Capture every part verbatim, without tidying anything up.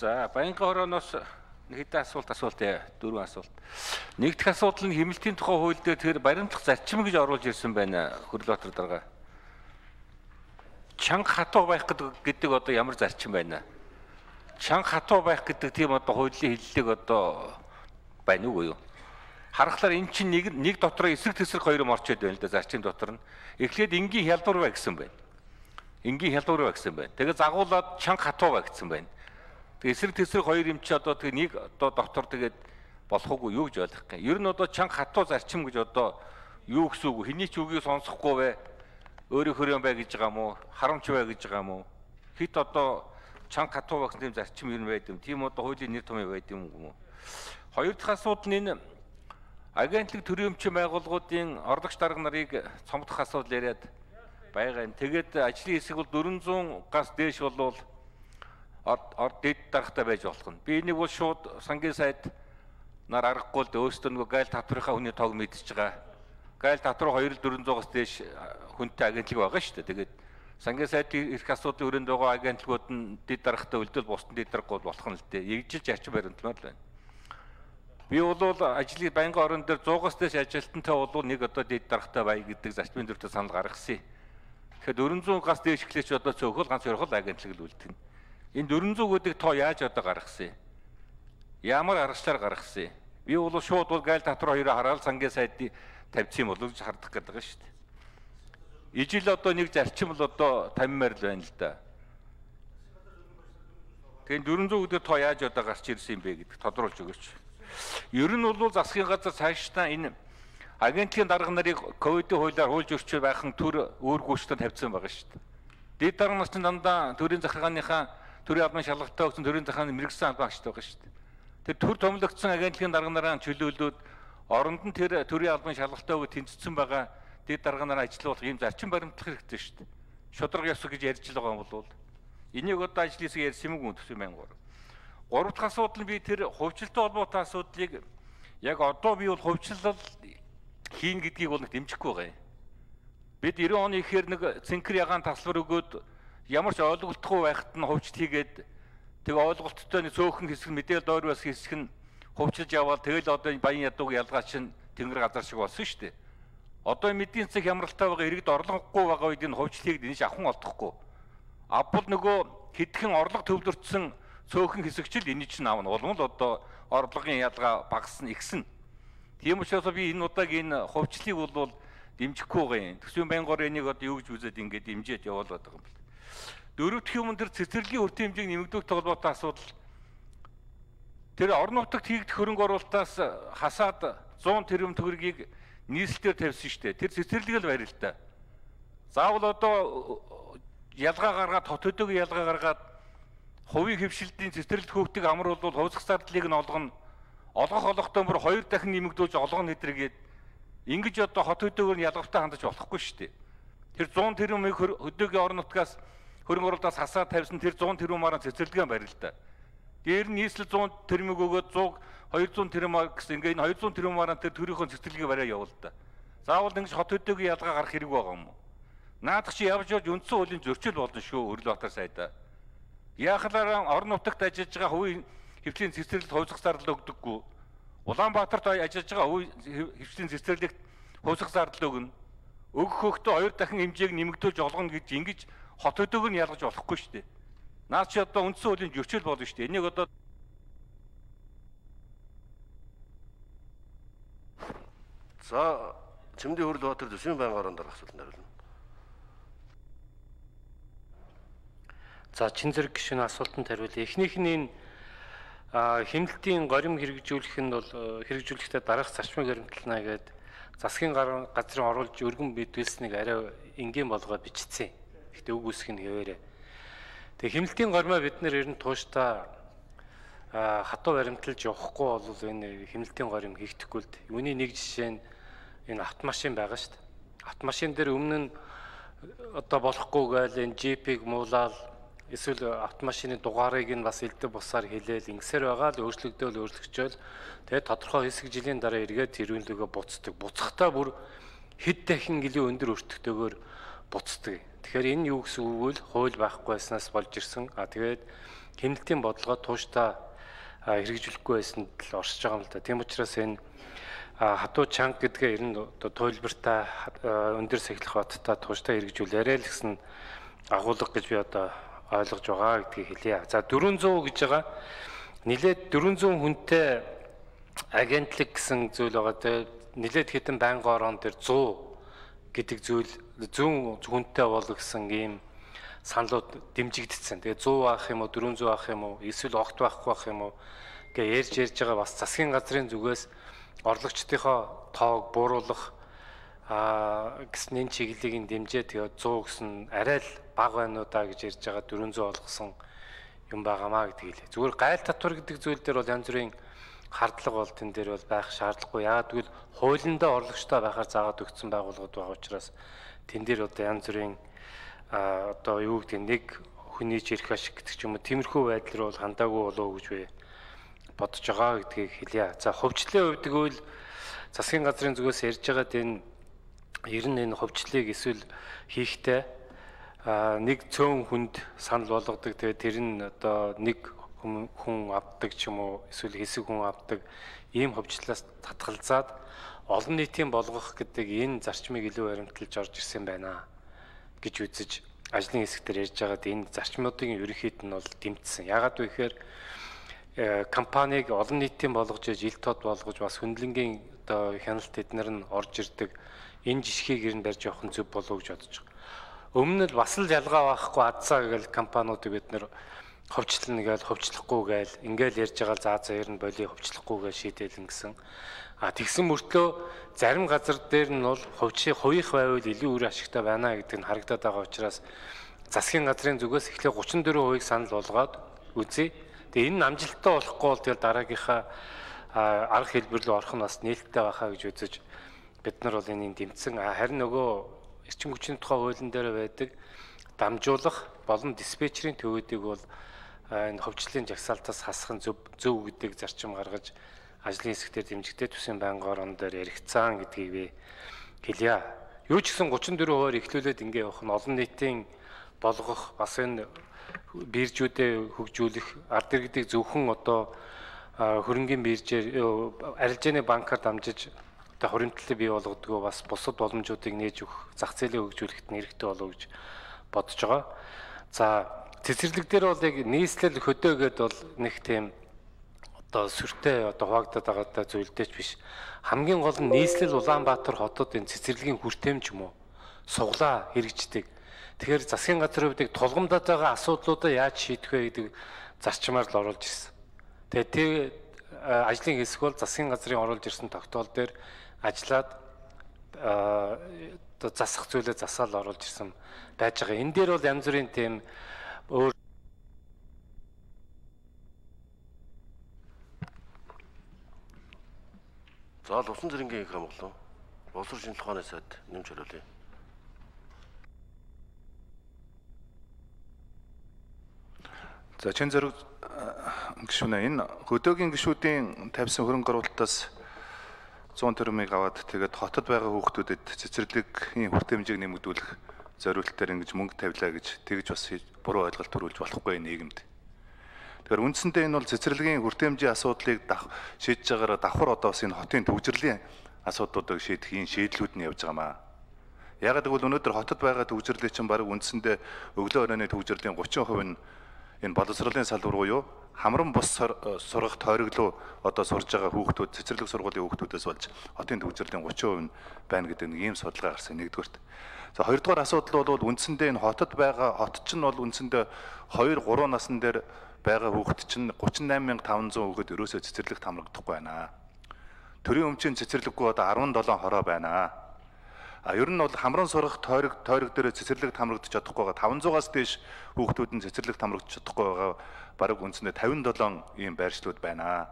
За Баянгын хорооноос нэг хэдэн асуулт асуултаа дөрвөн асуулт. Нэг дэх асуудал нь хэмнэлтийн тухай хууль дээр тэр баримтлах зарчим гэж оруулж ирсэн байна Хөрлөтөр дарга. Чанга хатуу байх гэдэг одоо ямар зарчим байна? Чанга хатуу байх гэдэг тийм одоо хуулийн хэллэг одоо байна уу юу? Харахаар эн чинь нэг нэг дотор эсрэг тесрэг хоёр юм орчод байна л да зарчим дотор нь. Эхлээд энгийн хялбар бай гэсэн байна. Энгийн хялбар бай гэсэн байна. Тэгээ загуулаад чанга хатуу бай гэсэн байна. Тэгээ эсрэг тесрэг хоёр юм чи одоо тэгээ нэг одоо дотор тэгээд болох уу юу гэж ойлгох юм. Ер нь одоо чанга хатуу зарчим гэж одоо юу гэсэн үг вэ? Хэний ч үгийг сонсохгүй вэ? Өөрөө хөрөн бай гэж байгаа мó? Харамч бай гэж байгаа мó? Хит одоо чанга хатуу байх тийм зарчим ер нь байд юм. Тийм одоо хуулийн нэр томьёо байд юм уу? Хоёр дахь асуудал нь энэ агентлаг төрийн өмчийн байгууллагуудын орлогч дарга нарыг цомдох асуудал яриад байгаа юм. Тэгээд ажлын хэсэг бол дөрвөн зуун гас дээш болвол ор дэд даргатай байж болох нь. Би энийг бол шууд сангийн сайд нар аргагүй л өөрсдөө нөгөө гайл татврынхаа хүний тоог мэдчихэж байгаа. Гайл татвар хоёр дөрвөн зуугаас дээш хүнтэй агентлаг байгаа шүү дээ. Тэгээд сангийн сайдын эрх асуудлын өрөөнд байгаа агентлагууд нь дэд даргатай үлдэл бусдын дэд даргагүй болох нь л дээ. Эгжилж зарчим баримтмаар л байна. Би бол ажлын байнгын орон дээр сто-аас дээш ажилтнтай бол нэг одоо дэд даргатай бай гэдэг зарчмын дүртэй санал гаргасан. Тэгэхээр дөрвөн зуун гас дээш эхлэж одоо цөөхөл ганц орхол агентлаг л үлдэнэ. Энэ дөрвөн зуун гэдэг тоо яаж одоо гаргасан? Ямар аргачлаар гаргасан? Би бол шууд бол гайл татвар хоёроо хараад сангийн сайдыг тавьчих юм болов гэж хардах гэдэг шүү дээ. Ижил одоо нэг зарчим л одоо тамимаар л байна л да. Тэгэхээр дөрвөн зуун гэдэг тоо яаж одоо гарч ирсэн юм бэ гэдэг тодруулж өгөөч. Ер нь бол засгийн газар цаашдаа энэ агентлагийн дарга нарыг ковидын хуулиар хуулж өрчөө байх нь төр өөргөөчтөд тавьсан байгаа шүү дээ. Дэд дарга нар чинь дандаа төрийн захиргааныхаа төрийн албан шалгалтаа өгсөн төрийн захиргааны мэрэгсэн албан агчтай байгаа шүү дээ. Тэр төр томилогдсон агентлагийн дарга нараа чөлөөлөөд оронд нь тэр төрийн албан шалгалтаа өгөө тэнцсэн байгаа дэд дарга нараа ажиллуулах ийм зарчим баримтлах хэрэгтэй шүү дээ. Шудраг ёс гэж ярьж байгаа юм бол энийг одоо ажлын хэсэг ярьсан юм уу төсөө мянгаар. Гурав дахь асуудал нь би тэр хувьчлалтай холбоотой асуудлыг яг одоо би бол хувьчлал хийн гэдгийг бол нэг дэмжихгүй байгаа юм. Бид девять оны ихээр нэг цэнхэр ягаан таслбар өгөөд ямар ч ойлголтгүй байхад нь хувьчлал хийгээд тэг ойлголттой нэг цөөхөн хэсэг мэдээлэл доор бас хэсэг нь хувьчилж яваад тэгэл одоо баян ядууг ялгаа чинь тэнгэр газар шиг болсон шүү дээ. Одоо мэдийн цэг хямралтай байгаа иргэд орлогогүй байгаа үед энэ хувьчлалыг дэнж авах олдохгүй. Авбал нөгөө хэдхэн орлого төвлөрсөн цөөхөн хэсэгчл энэ чинь аавна улам л одоо орлогын ялгаа багасна ихсэн. Тийм учраас би энэ удаагийн энэ хувьчлалыг бол дэмжихгүй байгаа юм. Төсвийн байнгын энийг одоо юу гэж үзээд ингээд дэмжиж явуулаад байгаа юм бэл. Дөрөв дэх юм дээр цэцэрлэгийн үрт хэмжээг нэмэгдүүлэх холбоотой асуудал. Тэр орон нутагт хийгдэх хөрөнгө оруулалтаас хасаад зуун тэрбум төгрөгийг нийслэлээр тавьсан шүү дээ. Тэр цэцэрлэг л байр л та. Заавал одоо ялгаа гаргаад хот хөдөөг ялгаа гаргаад хувийн хөвшилтийн цэцэрлэгт хөөгтөг амар бол хувьсгах зардлыг нь олгоно. Олгох олгохтой бүр хоёр дахин нэмэгдүүлж олгоно хэдэргээд ингэж одоо хот хөдөөгөр нь ялгавтай хандаж болохгүй шүү дээ. Тэр зуун тэрбумыг хөдөөгийн орон нутгаас хөрөнгө оруулалтаас хасаад тавьсан тэр зуун тэрбумаараа цэцэрлэгээ барь л да. Дээр нь нийслэл зуун тэрбумыг өгөөд сто хоёр зуун тэрбумаар гэсэн ингээ энэ хоёр зуун тэрбумаараа тэр төрийнхөө цэцэрлэгээ бариа явуул да. Заавал ингэж хот хөдөөгийн ялгаа гарах хэрэг байгаа юм уу? Наадах чи явж явж үндсэн хуулийн зөрчил болно шүү Хөрлөтөр сайдаа. Яахлаар орон нутагт ажиллаж байгаа хувийн хөвчлийн цэцэрлэгт хувьсгах зардал өгдөггүй. Улаанбаатарт ажиллаж байгаа хувийн хөвчлийн цэцэрлэгт хувьсгах зардал өгнө. Өгөх хөхтөө хоёр дахин хэмжээг нэмэгдүүлж олгоно гэж ингэж хот хөдөөгөр нь ялгаж болохгүй шүү дээ. Наад чи одоо үндсэн хуулийн зөрчил болно шүү дээ. Энийг одоо за Чимдийн Хөрлөтөр төсвийн байнгын орон дарга асуултанд хариулна. За чин зэрэг гишүүний асуултанд хариулъя. Эхнийх нь энэ хэмнэлтийн горим хэрэгжүүлэх нь бол хэрэгжүүлэхдээ дараах зарчмыг баримтлана гэдэг засгийн газрын оруулж өргөн мэдүүлсэнийг арай энгийн болгоод бичсэн. Гэхдээ үг үсэх нь хэвээрээ. Тэгээ хэмнэлтийн гормоо бид нэр ер нь тууштай хатуу баримталж явахгүй бол энэ хэмнэлтийн горим хийгдэхгүй л дээ. Үүний нэг жишээ нь энэ автомашин байгаа шүү дээ. Автомашин дээр өмнө нь одоо болохгүй гээл энэ джипийг муулаад эсвэл автомашины дугаарыг нь бас элдв бусаар хэлээл ингэсээр байгаа л өөрчлөгдөөл өөрчлөгчөөл тэгээд тодорхой хэсэг жилийн дараа эргээд тэрүүнлөгөө буцдаг. Буцахтаа бүр хэд дахин гэлээ өндөр өртөгтэйгээр буцдаг. Тэгэхээр энэ юу гэсэн үг вэ? Хууль байхгүй байснаас болж ирсэн. А тэгээд хяналтын бодлогоо тууштай хэрэгжүүлэхгүй байсан л оршиж байгаа юм л да. Тийм учраас энэ хатуу чанга гэдгээ ер нь одоо туйлбартай өндөр сахилах баттай тууштай хэрэгжүүлээрэй л гэсэн агуулга гэж би одоо ойлгож байгаа гэдгийг хэлье. За дөрвөн зуун гэж байгаа нилээд дөрвөн зуун хүнтэй агентлаг гэсэн зүйл байгаа. Тэгээ нилээд хэдэн байнгын орон дээр сто гэдэг зүйл зүүн хүнтэй бол гэсэн ийм саналууд дэмжигдсэн. Тэгээ сто авах юм уу, дөрвөн зуун авах юм уу, эсвэл огт байхгүй авах юм уу гэж ярьж ярьж байгаа бас засгийн газрын зүгээс орлогчдынхоо тоог бууруулах а гэсэн энэ чиглэлийг дэмжээ. Тэгээ сто гэсэн арай л бага байна уу да гэж ярьж байгаа дөрвөн зуун олгосон юм байгаамаа гэдгийг хэлээ. Зүгээр гайл татвар гэдэг зүйл дээр бол янз бүрийн хардлага бол тэн дээр бол байх шаардлагагүй. Яагаад гэвэл хуулиндаа орлогчтой байхаар заагаад өгсөн байгууллагууд байгаа учраас тэн дээр одоо янз бүрийн одоо юу гэдэг нэг хүний жирэх ашиг гэдэг ч юм уу тиймэрхүү байдал руу хандаагүй болов гэж би бодож байгаа гэдгийг хэлье. За хувьчлалын хувьд гэвэл засгийн газрын зүгээс ярьж байгаад энэ ер нь энэ хувьчлалыг эсвэл хийхдээ нэг цөөн хүнд санал болгодог. Тэгээд тэр нь одоо нэг хүн авдаг ч юм уу эсвэл хэсэг хүн авдаг ийм хувьчлалаас татгалзаад олон нийтийн болгох гэдэг энэ зарчмыг илүү баримталж орж ирсэн байна гэж үзэж ажлын хэсгээр ярьж байгаад энэ зарчмуудын ерөнхийд нь бол дэмжсэн. Яагаад вэ гэхээр компанийг олон нийтийн болгож жил тод болгож бас хөндлөнгийн одоо хяналт эднэр нь орж ирдэг энэ жишгийг ер нь барьж явах нь зөв болов гэж бодож байгаа. Өмнө нь бас л ялгаа байхгүй адсаа гэл компаниудыг бид нэр хувьчлал нэгээл хувьчлахгүй гээл ингээл ярьж байгаа заа заяар нь боли хувьчлахгүй гээл шийдэлэн гэсэн. А тэгсэн мөртлөө зарим газар дээр нь бол хувьчийн хувийнх байвал илүү үр ашигтай байна гэдэг нь харагдаад байгаа учраас засгийн газрын зүгээс эхлээ гучин дөрвөн хувийг санал болгоод үзье. Тэгээ энэ амжилттай болохгүй бол тэгэл дараагийнхаа арга хэлбэр рүү орох нь бас нээлттэй байхаа гэж үзэж бид нар бол энийг дэмжсэн. Харин нөгөө эрчим хүчний тухай хуулийн дээр байдаг дамжуулах болон диспетчерийн төвүүдийг бол энэ хувьчлалын жагсаалтаас хасах нь зөв зөв гэдэг зарчим гаргаж ажлын хэсгээр дэмжигдээд төсвийн байнгын орон дээр яригдсан гэдгийг би хэлье. Юу ч гэсэн гучин дөрвөн хувиар эхлүүлээд ингэ явах нь олон нийтийн болгох бас энэ биржүүдэд хөгжүүлэх ард иргэдийг зөвхөн одоо хөрөнгийн биржээр арилжааны банкар дамжиж одоо хуримтлалыг бий болгодгоо бас бусад боломжуудыг нээж өгөх зах зээлийг хөгжүүлэхэд нэрхтээ болов гэж бодож байгаа. За цэцэрлэг дээр бол яг нийслэл хөдөө гэдэг бол нэг тийм одоо сүртэй одоо хуваагдаад байгаа зүйлдээч биш. Хамгийн гол нь нийслэл Улаанбаатар хотод энэ цэцэрлэгийн хүртээмж юм уу суглаа хэрэгждэг. Тэгэхээр засгийн газрын хувьд тулгамдаад байгаа асуудлуудаа яаж шийдэх вэ гэдэг зарчмаар л оруулж ирсэн. Тэгээд тэр ажлын хэсэг бол засгийн газрын оруулж ирсэн тогтоол дээр ажиллаад одоо засах зүйлээ засаал оруулж ирсэн байж байгаа. Энэ дээр бол янз бүрийн тийм өөр За усан зэрэнгийн их хамгаалал боловсрол шинжилгээ ухааны сайд нэмж хариулъя. За чин зэрэг гишүүнээ энэ хөдөөгийн гишүүдийн тавьсан хөрөнгө оруулалтаас зуун төгрөмийг аваад тэгээд хотод байгаа хүүхдүүдэд цэцэрлэгийн хүртээмжийг нэмэгдүүлэх зориултаар ингэж мөнгө тавилаа гэж тэгж бас буруу ойлголт төрүүлж болохгүй нийгэмд. Тэгэхээр үндсэндээ энэ бол цэцэрлэгийн хүртээмжийн асуудлыг шийдэж байгаараа давхар одоо бас энэ хотын төвжирлийн асуудлуудыг шийдэх энэ шийдлүүд нь явж байгаамаа. Яагаад гэвэл өнөөдөр хотод байгаа төвжирлийг чинь баг үндсэндээ өглөө оройны төвжирлийн гучин хувь нь энэ боловсролын салбар буюу хамран бус сургах тойроглоо одоо сурж байгаа хүүхдүүд цэцэрлэг сургуулийн хүүхдүүдээс болж хотын төвжирлийн гучин хувь нь байна гэдэг нэг ийм судалгаа гарсан нэгдүгээрт. За хоёрдугаар асуудал бол үндсэндээ энэ хотод байгаа хот чинь бол үндсэндээ хоёр гурван насн дээр байгаа хүүхэд чинь гучин найман мянга таван зуун хүүхэд ерөөсөө цэцэрлэгт хамрагдахгүй байна. Төрийн өмчийн цэцэрлэггүй одоо арван долоон хороо байна. А ер нь бол хамран сурах тойрог тойрог дээр цэцэрлэгт хамрагдаж чадахгүй байгаа таван зуунаас дээш хүүхдүүд нь цэцэрлэгт хамрагдаж чадахгүй байгаа бараг үндсэндээ тавин долоон ийм байршлууд байна.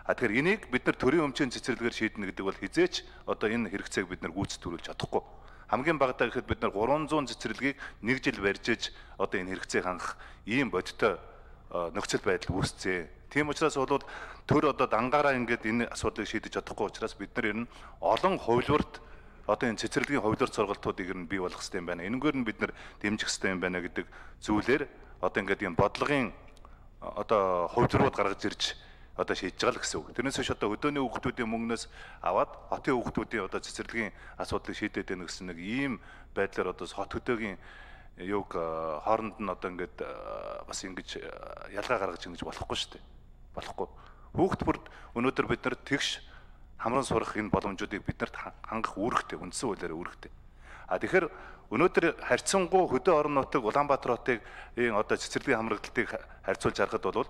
А тэгэхээр энийг бид нар төрийн өмчийн цэцэрлэгээр шийднэ гэдэг бол хизээч одоо энэ хэрэгцээг бид нар гүйцэтгүүлж чадахгүй. Хамгийн багадаа гэхэд бид нар гурван зуун цэцэрлэгийг нэг жил барьж иж одоо энэ хэрэгцээг хангах ийм бодиттой нөхцөл байдал үүсцээ. Тийм учраас бол төр одоо дангаараа ингээд энэ асуудлыг шийдэж чадахгүй учраас бид нар ер нь олон хувилбарт одоо энэ цэцэрлэгийн хувилбар сургалтуудыг ер нь бий болгох хэрэгтэй юм байна. Энэгээр нь бид нар дэмжих хэрэгтэй юм байна гэдэг зүйлээр одоо ингээд ийм бодлогын одоо хувьдрууд гаргаж ирж одоо шийдэж байгаа л гэсэн үг. Тэрнээс биш одоо хөдөөний хүүхдүүдийн мөнгнөөс аваад хотын хүүхдүүдийн одоо цэцэрлэгийн асуудлыг шийдээд байна гэсэн нэг ийм байдлаар одоо хот хөдөөгийн юуг хооронд нь одоо ингээд бас ингэж ялгаа гаргаж ингэж болохгүй шүү дээ. Болохгүй. Хүүхд бүрд өнөөдөр бид нар тэгш хамран сурах энэ боломжуудыг биднэрт хангах үүрэгтэй, үндсэн хуулиар үүрэгтэй. А тэгэхээр өнөөдөр харьцангуй хөдөө орон нутаг Улаанбаатар хотыг энэ одоо цэцэрлэгийн хамрагдалтыг харьцуулж харахад бол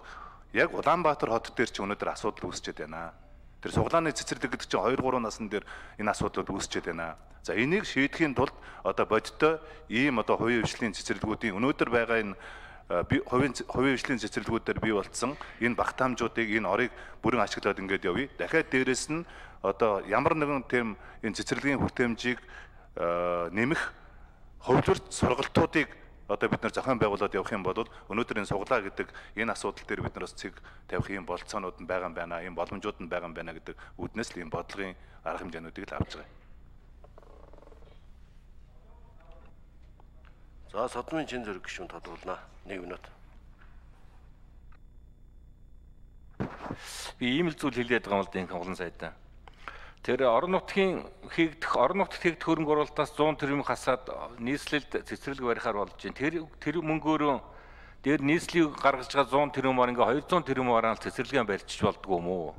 яг Улаанбаатар хот дээр ч өнөөдөр асуудал үүсчээд байна. Тэр суглааны цэцэрлэг гэдэг чинь хоёр гурван насн дээр энэ асуудлууд үүсчээд байна. За энийг шийдэхийн тулд одоо бодиттой ийм одоо хувийн хвшлийн цэцэрлэгүүдийн өнөөдөр байгаа энэ хувийн хувийн хвшлийн цэцэрлэгүүдээр бий болцсон энэ багтаамжуудыг энэ орыг бүрэн ашиглаад ингээд явъя. Дахиад дээрэс нь одоо ямар нэгэн тийм энэ цэцэрлэгийн хүртээмжийг нэмэх хөвлөрт сургалтуудыг одоо бид нар зохион байгуулад явах юм бол өнөөдөр энэ суглаа гэдэг энэ асуудал дээр бид нараас цэг тавих юм болцоонууд нь байгаа юм байна, ийм боломжууд нь байгаа юм байна гэдэг үүднээс л ийм бодлогын арга хэмжээнүүдийг л авч байгаа. За Содмын чин зэрэг гишүүн тодруулнаа. нэг минут. Би ийм л зүйл хэлээд байгаа юм л да энэ хонглон сайдаа. Тэр орон нутгийн хийгдэх орон нутгад хийгдэх хөрөнгө оруулалтаас зуун тэрбум хасаад нийслэлд цэцэрлэг барихаар болж байна. Тэр тэр мөнгөөрөө дээр нийслэлийг гаргаж байгаа зуун тэрбумаар ингээ хоёрзуун тэрбумаар л цэцэрлэгээ барьчих болдгоо юм уу?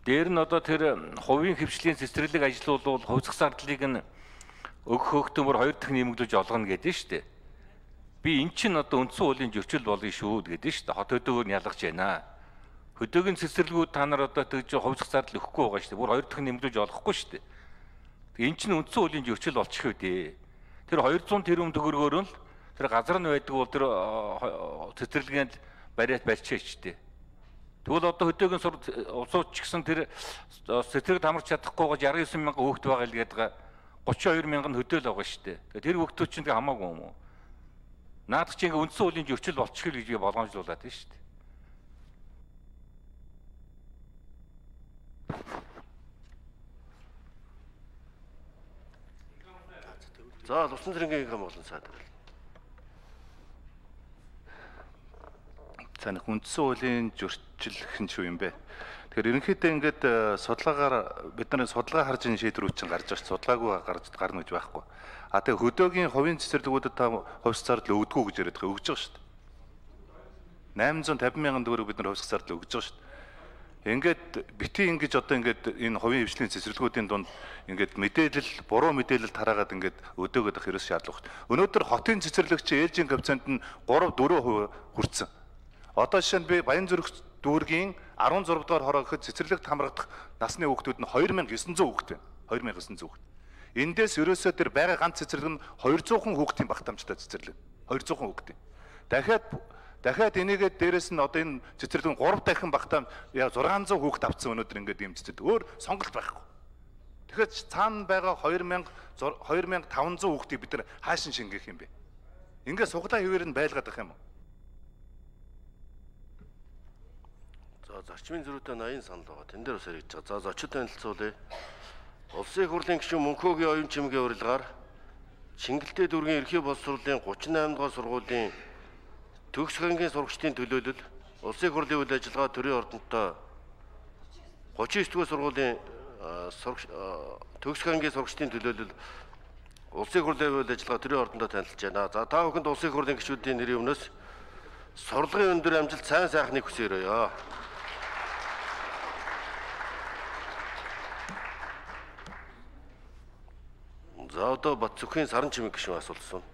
Дээр нь одоо тэр хувийн хвшлийн цэцэрлэг ажилуулвал хувьсах зардлыг нь өгөх хөтөмөр хоёр дахин нэмэгдүүлж олгоно гэдэг нь шүү дээ. Би эн чинь одоо үндсэн хуулийн зөрчил болно шүү гэдэг нь шүү дээ. Хот хөдөөгөр нь ялгаж байна. Хөдөөгийн цэцэрлэгүүд та нар одоо тэгж хувьсах зардал өгөхгүй байгаа шүү дээ. Бүр хоёр дахин нэмэгдүүлж олохгүй шүү дээ. Энэ чинь үндсэн хуулийн зөрчил болчих үү дээ. Тэр хоёрзуун тэрбум төгрөгөөр нь л тэр газар нь байдаг бол тэр цэцэрлэгэнд бариад барьчихъя шүү дээ. Тэгвэл одоо хөдөөгийн улсууд ч гэсэн тэр цэцэрлэгт хамарч чадахгүйгээр шестдесет и девять мянган хүүхэд байгаа л гэдэг тридцать и два мянган хөдөөл байгаа шүү дээ. Тэр хүүхдүүд чинь хамаагүй юм уу? Наадах чинь үндсэн хуулийн зөрчил болчих гэж би болгоомжлуулад байна шүү дээ. За Лувсан цэрэнгийн хэм болон сайд. За нэг үндсэн хуулийн зөрчил хэн ч юм бэ? Тэгэхээр ерөнхийдөө ингээд судалгаагаар бид нарын судалгаа харж ин шийдвэрүүд чинь гарч байгаа судалгаагүй гарч гарна гэж байхгүй. А тэгээ хөдөөгийн хувийн цэцэрлэгүүдэд та хувьсах зардал өгдөггүй гэж яриад байгаа өгж байгаа шүү дээ. восемьсот пятьдесят мянган төгрөг бид нар хувьсах зардал өгж байгаа шүү дээ. Ингээд бити ингэж одоо ингээд энэ хувийн хвшлийн цэцэрлэгүүдийн дунд ингээд мэдээлэл буруу мэдээлэл тараагаад ингээд өдөөгöd ах ерөөс шаардлага багт. Өнөөдөр хотын цэцэрлэгч ээлжийн коэффициент нь три дөрөв хувь хүрсэн. Одоо жишээ нь би Баянзүрх дүүргийн дөрвөн дугаар хороо гэхэд цэцэрлэгт хамрагдах насны хүүхдүүд нь two thousand nine hundred хүүхэд байна. two thousand nine hundred хүүхэд. Эндээс ерөөсөө тэр байгаа ганц цэцэрлэг нь two hundred хүүхдийн багтаамжтай цэцэрлэг. two hundred хүүхдийн. Дахиад дахиад энийгээ дээрэс нь одоо энэ цэцэрлэг нь three дахин багтаам яа six hundred хүүхэд авцсан өнөөдөр ингээд ийм цэцэрлэг. Өөр сонголт байхгүй. Тэгэхээр цаана байгаа two thousand two thousand five hundred хүүхдийг бид нар хаашин шингээх юм бэ? Ингээд суглаа хэвээр нь байлгаад байх юм уу? За зарчмын зөрүүтэй eighty санал байгаа. Тэн дээр бас яригдж байгаа. За зочид танилцуулъя. Улсын их хурлын гишүүн Мөнхөөгийн оюун чимгийн урилгаар Шингэлтэй дүүргийн ерхий боловсруулалтын thirty-eight дугаар сургуулийн төгс хангийн сурагчдын төлөөлөл, улсын их хурлын үйл ажиллагаа төрийн ордонтой thirty-nine дугаар сургуулийн төгс хангийн сурагчдын төлөөлөл, улсын их хурлын үйл ажиллагаа төрийн ордонтой танилцж байна. За та бүхэнд улсын их хурлын гишүүдийн нэрийн өмнөөс сурлагын өндөр амжилт, сайн сайхныг хүсээрэй. За одоо Бат Зүхийн Саран чимэг гишүүн асуулсан.